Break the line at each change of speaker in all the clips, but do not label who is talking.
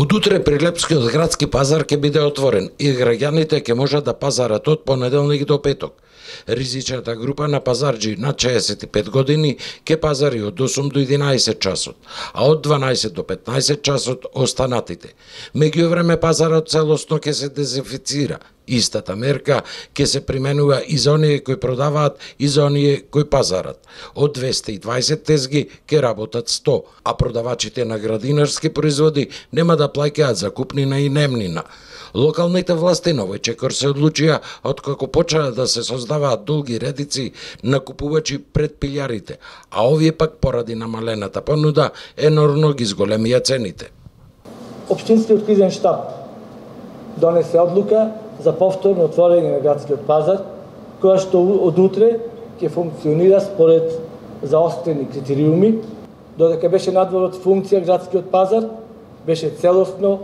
Од утре Прилепскиот градски пазар ќе биде отворен и граѓаните ќе можат да пазарат од понеделник до петок. Ризичната група на пазарџи над 65 години ќе пазари од 8 до 11 часот, а од 12 до 15 часот останатите. Меѓувреме пазарот целосно ќе се дезинфицира. Истата мерка ќе се применува и за оние кои продаваат и за оние кои пазарат. Од 220 тезги ќе работат 100, а продавачите на градинарски производи нема да плаќаат закупнина и немнина. Локалните власти на овој чекор се одлучија откако почнаа да се создаваат долги редици на купувачи пред пилјарите, а овие пак поради намалената понуда енормно ги зголемија цените.
Општинскиот кризен штаб донесе одлука за повторно отворање на градскиот пазар, која што од утре ќе функционира според заострени критериуми, додека беше надвор од функција градскиот пазар, беше целосно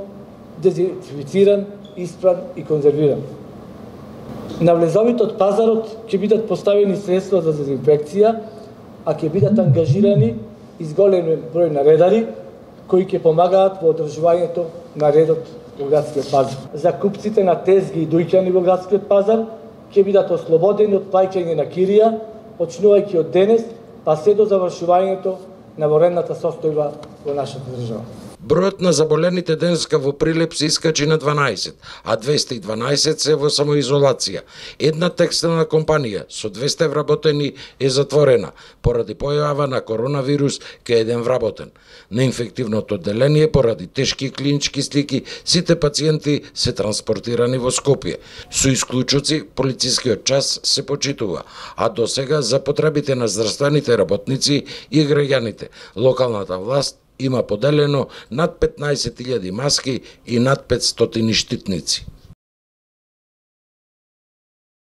дезинфициран, испран и конзервиран. На влезовите од пазарот ќе бидат поставени средства за дезинфекција, а ќе бидат ангажирани изголемен број наредари кои ќе помагаат во одржувањето на редот во градскиот пазар. Закупците на тезги и дојќани во градскиот пазар ќе бидат ослободени од плаќање на кирија, почнувајќи од денес, па се до завршувањето на военната состојба во нашата држава.
Бројот на заболените денеска во Прилеп се искачи на 12, а 212 се во самоизолација. Една текстилна компанија со 200 вработени е затворена поради појава на коронавирус кај еден вработен. На инфективното одделение поради тешки клинички слики сите пациенти се транспортирани во Скопје. Со исклучоци полицискиот час се почитува, а досега за потребите на здравствените работници и граѓаните локалната власт има поделено над 15.000 маски и над 500 штитници.